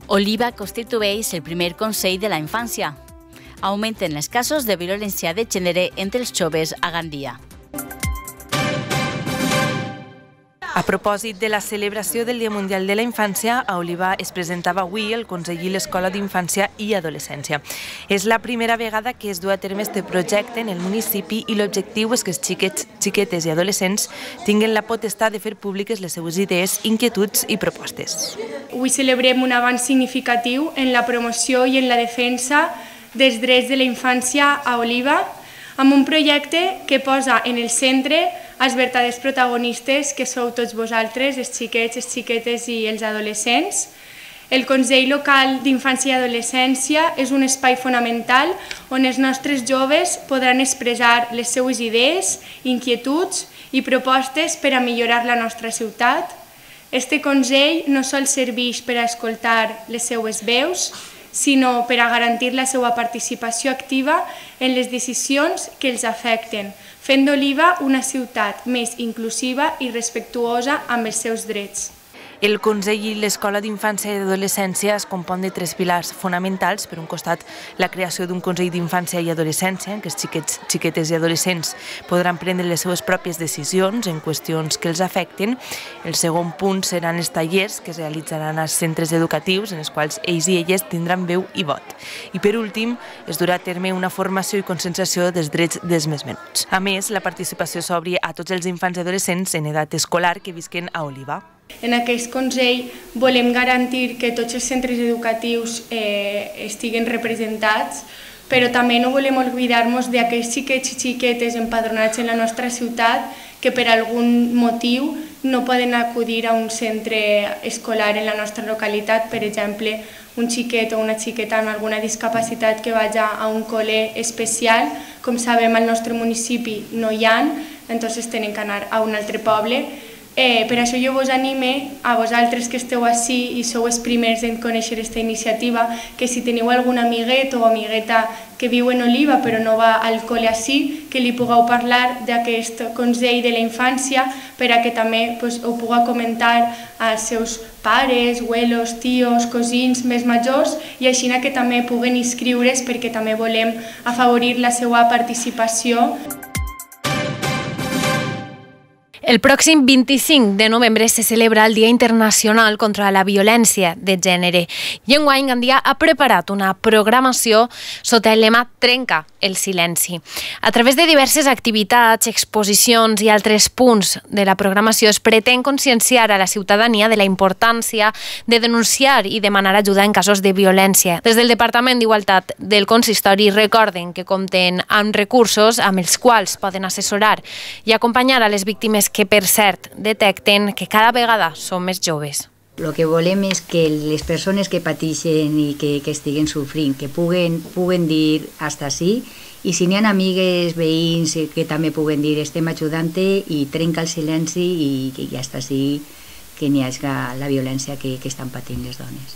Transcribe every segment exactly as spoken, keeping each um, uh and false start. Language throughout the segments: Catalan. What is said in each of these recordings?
Oliva constitueix el primer Consell de la Infància. Augmenten els casos de violència de gènere entre els joves a Gandia. A propòsit de la celebració del Dia Mundial de la Infància, a Oliva es presentava avui el Consell i l'Escola d'Infància i Adolescència. És la primera vegada que es du a terme este projecte en el municipi i l'objectiu és que els xiquets, xiquetes i adolescents tinguin la potestat de fer públiques les seues idees, inquietuds i propostes. Avui celebrem un avanç significatiu en la promoció i en la defensa dels drets de la infància a Oliva, amb un projecte que posa en el centre els verdaders protagonistes que sou tots vosaltres, els xiquets, les xiquetes i els adolescents. El Consell Local d'Infància i Adolescència és un espai fonamental on els nostres joves podran expressar les seues idees, inquietuds i propostes per a millorar la nostra ciutat. Este Consell no sols serveix per a escoltar les seues veus, sinó per a garantir la seva participació activa en les decisions que els afecten, fent d'Oliva una ciutat més inclusiva i respectuosa amb els seus drets. El Consell i l'Escola d'Infància i Adolescència es compon de tres pilars fonamentals. Per un costat, la creació d'un Consell d'Infància i Adolescència, en què els xiquets, xiquetes i adolescents podran prendre les seves pròpies decisions en qüestions que els afecten. El segon punt seran els tallers que es realitzaran als centres educatius, en els quals ells i elles tindran veu i vot. I per últim, es durà a terme una formació i conscienciació dels drets dels més menuts. A més, la participació s'obri a tots els infants i adolescents en edat escolar que visquen a Oliva. En aquest Consell volem garantir que tots els centres educatius eh, estiguen representats, però també no volem oblidar-nos d'aquells xiquets i xiquetes empadronats en la nostra ciutat que per algun motiu no poden acudir a un centre escolar en la nostra localitat, per exemple, un xiquet o una xiqueta amb alguna discapacitat que vagi a un col·le especial. Com sabem, al nostre municipi no hi ha, llavors tenen que anar a un altre poble. Eh, per això jo vos anime a vosaltres que esteu ací i sou els primers en conèixer aquesta iniciativa, que si teniu algun amiguet o amigueta que viu en Oliva però no va al col·le ací, que li pugueu parlar d'aquest Consell de la Infància per a que també pues, ho puga comentar als seus pares, abuelos, tios, cosins més majors i així que també puguen inscriure's perquè també volem afavorir la seva participació. El pròxim vint-i-cinc de novembre se celebra el Dia Internacional contra la Violència de Gènere i enguany Gandia ha preparat una programació sota el lema Trenca el silenci. A través de diverses activitats, exposicions i altres punts de la programació es pretén conscienciar a la ciutadania de la importància de denunciar i demanar ajuda en casos de violència. Des del Departament d'Igualtat del Consistori recorden que compten amb recursos amb els quals poden assessorar i acompanyar a les víctimes que, per cert, detecten que cada vegada són més joves. El que volem és que les persones que pateixen i que, que estiguen sofrint, que puguen, puguen dir hasta sí, i si n'hi ha amigues, veïns que també puguen dir estem ajudant-te i trenca el silenci i, i hasta sí que n'hi hagi la violència que, que estan patint les dones.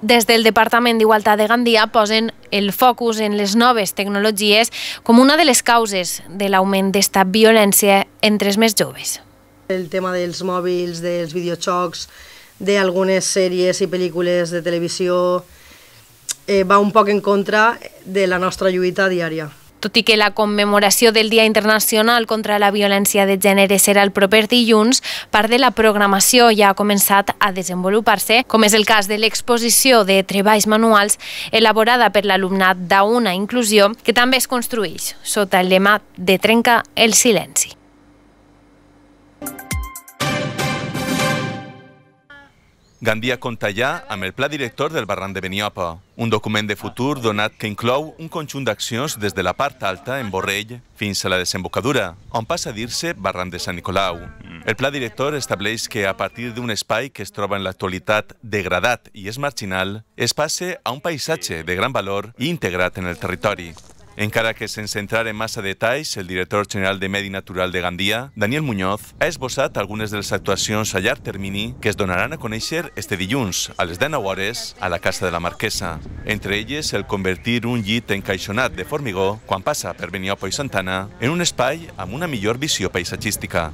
Des del Departament d'Igualtat de Gandia posen el focus en les noves tecnologies com una de les causes de l'augment d'esta violència entre els més joves. El tema dels mòbils, dels videojocs, d'algunes sèries i pel·lícules de televisió eh, va un poc en contra de la nostra lluita diària. Tot i que la commemoració del Dia Internacional contra la Violència de Gènere serà el proper dilluns, part de la programació ja ha començat a desenvolupar-se, com és el cas de l'exposició de treballs manuals elaborada per l'alumnat d'Una Inclusió, que també es construeix sota el lema de Trenca el silenci. Gandia compta ja amb el Pla Director del Barranc de Beniopa, un document de futur donat que inclou un conjunt d'accions des de la part alta, en Borrell, fins a la desembocadura, on passa a dir-se Barranc de Sant Nicolau. El Pla Director estableix que a partir d'un espai que es troba en l'actualitat degradat i és marginal, es passe a un paisatge de gran valor i integrat en el territori. Encara que sense entrar en massa detalls, el director general de Medi Natural de Gandia, Daniel Muñoz, ha esbossat algunes de les actuacions a llarg termini que es donaran a conèixer este dilluns, a les dinou hores, a la Casa de la Marquesa. Entre elles, el convertir un llit encaixonat de formigó, quan passa per Beniopa i Santana, en un espai amb una millor visió paisatgística.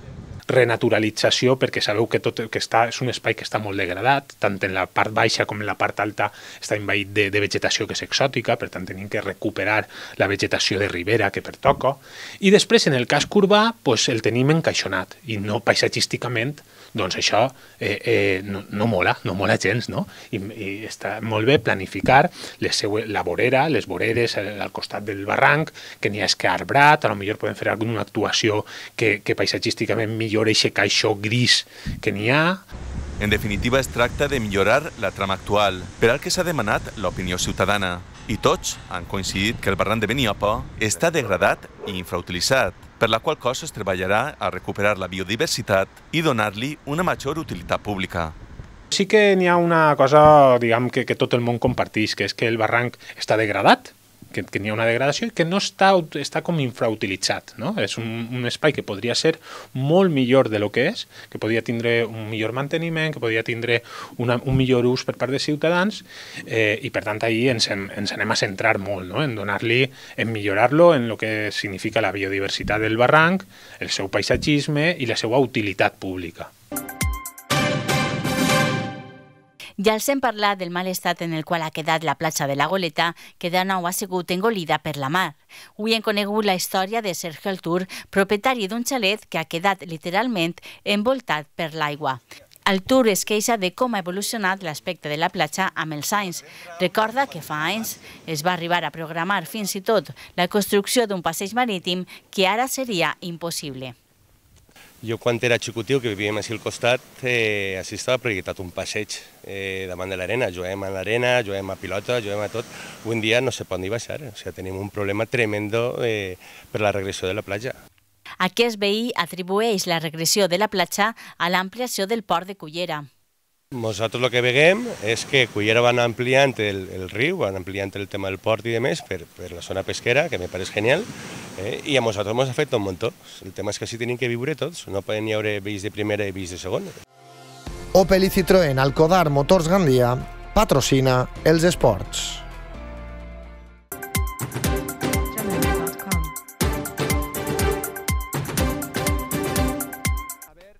renaturalització, perquè sabeu que, tot, que està, és un espai que està molt degradat, tant en la part baixa com en la part alta està envaït de, de vegetació que és exòtica, per tant tenim que recuperar la vegetació de ribera que pertoca, i després en el casc urbà pues, el tenim encaixonat, i no paisatgísticament, doncs això eh, eh, no, no mola, no mola gens, no? I, i està molt bé planificar les seue, la vorera, les voreres al costat del barranc, que n'hi ha escarbrat, a lo millor podem fer alguna actuació que, que paisatgísticament millori aquest caixó gris que n'hi ha. En definitiva, es tracta de millorar la trama actual, per al que s'ha demanat l'opinió ciutadana. I tots han coincidit que el barranc de Beniopa està degradat i infrautilitzat, per la qual cosa es treballarà a recuperar la biodiversitat i donar-li una major utilitat pública. Sí que n'hi ha una cosa, diguem, que, que tot el món comparteix, que és que el barranc està degradat, que, que n'hi ha una degradació i que no està, està com infrautilitzat, no? És un, un espai que podria ser molt millor de lo que és, que podria tindre un millor manteniment, que podria tindre una, un millor ús per part dels ciutadans, eh, i per tant ahir ens, en, ens anem a centrar molt, no? En donar-li, en millorar-lo en el que significa la biodiversitat del barranc, el seu paisatgisme i la seva utilitat pública. Ja els hem parlat del mal estat en el qual ha quedat la platja de la Goleta, que de nou ha sigut engolida per la mar. Avui hem conegut la història de Sergio Altur, propietari d'un xalet que ha quedat literalment envoltat per l'aigua. Altur es queixa de com ha evolucionat l'aspecte de la platja amb els anys. Recorda que fa anys es va arribar a programar fins i tot la construcció d'un passeig marítim que ara seria impossible. Jo quan era xicotiu, que vivíem així al costat, eh, així estava projectat un passeig eh, davant de l'arena. Juguem a l'arena, juguem a pilota, juguem a tot. Avui en dia no se pot ni baixar, o sigui, tenim un problema tremendo eh, per la regressió de la platja. Aquest veí atribueix la regressió de la platja a l'ampliació del port de Cullera. Nosaltres el que veiem és que Cullera van ampliant el, el riu, van ampliant el tema del port i de més per, per la zona pesquera, que me pareix genial, eh, i a nosaltres ens afecta un muntó. El tema és que així tenim que viure tots, no poden hi haver veïns de primera i veïns de segona. Opel i Citroën Alcodar Motors Gandia patrocina els esports.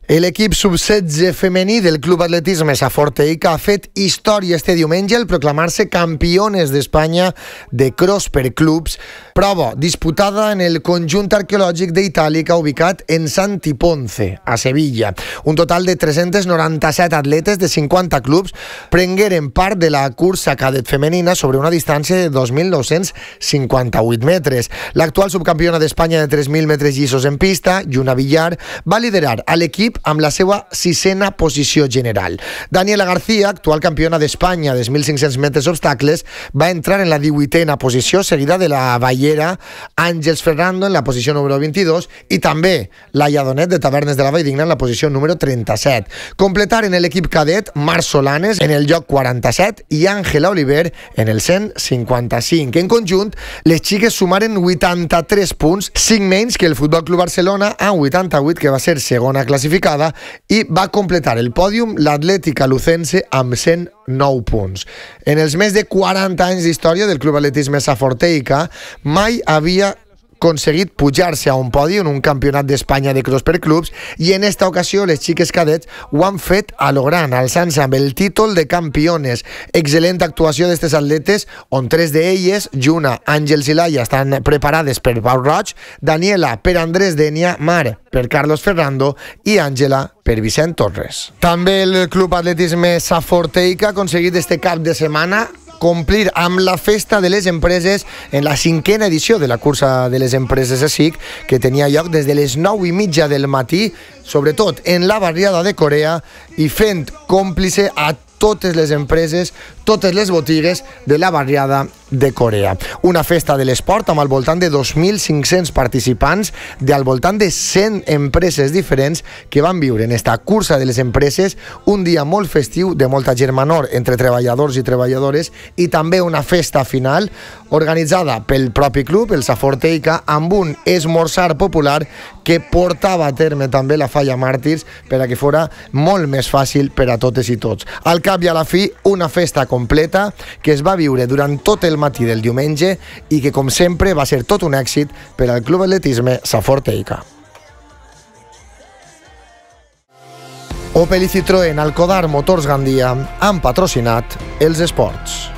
L'equip sub setze femení del Club Atletisme Saforteica ha fet història este diumenge al proclamar-se campiones d'Espanya de cross per clubs, prova disputada en el conjunt arqueològic d'Itàlica ubicat en Santi Ponce, a Sevilla. Un total de tres-cents noranta-set atletes de cinquanta clubs prengueren part de la cursa cadet femenina sobre una distància de dos mil nou-cents cinquanta-vuit metres. L'actual subcampiona d'Espanya de tres mil metres llissos en pista, Lluna Villar, va liderar a l'equip amb la seva sisena posició general. Daniela García, actual campiona d'Espanya de mil cinc-cents metres obstacles, va entrar en la divuitena posició, seguida de la ballera Àngels Ferrando en la posició número vint-i-dos i també Laia Donet de Tavernes de la Valldigna en la posició número trenta-set. Completaren l'equip cadet Mar Solanes en el lloc quaranta-set i Àngela Oliver en el cent cinquanta-cinc. En conjunt, les xiques sumaren vuitanta-tres punts, cinc menys que el Futbol Club Barcelona amb vuitanta-vuit, que va ser segona classificada, i va completar el pòdium l'Atlètica Lucense amb cent nou punts. En els més de quaranta anys d'història del Club Atletisme Saforteica mai havia aconseguit pujar-se a un podi en un campionat d'Espanya de cross per clubs i en esta ocasió les xiques cadets ho han fet a lo gran, alçant-se amb el títol de campiones. Excel·lent actuació d'estes atletes, on tres d'elles, Lluna, Àngels i Laia, estan preparades per Pau Roig, Daniela per Andrés Denia, Mar per Carlos Ferrando i Àngela per Vicent Torres. També el Club Atletisme Saforteica ha aconseguit este cap de setmana complir amb la festa de les empreses en la cinquena edició de la cursa de les empreses a S I C, que tenia lloc des de les nou i mitja del matí, sobretot en la barriada de Corea, i fent còmplice a totes les empreses, totes les botigues de la barriada de Corea. Una festa de l'esport amb al voltant de dos mil cinc-cents participants de al voltant de cent empreses diferents que van viure en esta cursa de les empreses un dia molt festiu de molta germanor entre treballadors i treballadores i també una festa final organitzada pel propi club, el Saforteica, amb un esmorzar popular que portava a terme també la Falla Màrtirs per a que fora molt més fàcil per a totes i tots. Al cap i a la fi, una festa completa que es va viure durant tot el matí del diumenge i que, com sempre, va ser tot un èxit per al Club Atletisme Saforteica. Opel i Citroën, Alcodar Motors Gandia han patrocinat els esports.